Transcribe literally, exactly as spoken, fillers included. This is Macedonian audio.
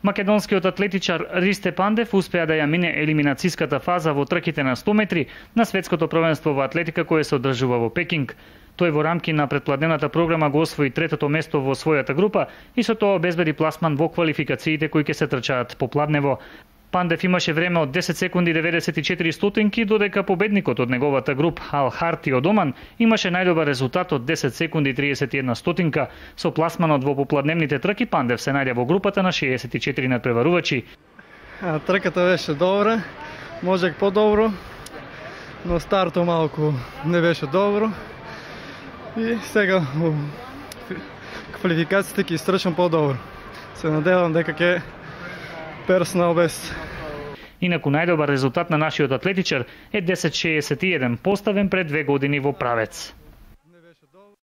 Македонскиот атлетичар Ристе Пандев успеа да ја мине елиминацијската фаза во трките на сто метри на светското првенство во атлетика кое се одржува во Пекинг. Тој во рамки на претпладневната програма го освои третото место во својата група и со тоа обезбеди пласман во квалификациите кои ќе се трчаат по пладнево. Пандев имаше време од десет секунди деветдесет и четири стотинки, додека победникот од неговата груп Ал Харти од Оман имаше најдобар резултат од десет секунди триесет и една стотинка. Со пласманот во попладневните трки Пандев се најде во групата на шеесет и четири надпреварувачи. Трката беше добра, можех подобро, но стартот малку не беше добро. И сега во квалификациите ќе истрчам подобро. Се надевам дека ќе персонал без. Инаку најдобар резултат на нашиот атлетичар е десет шеесет и еден, поставен пред две години во Правец.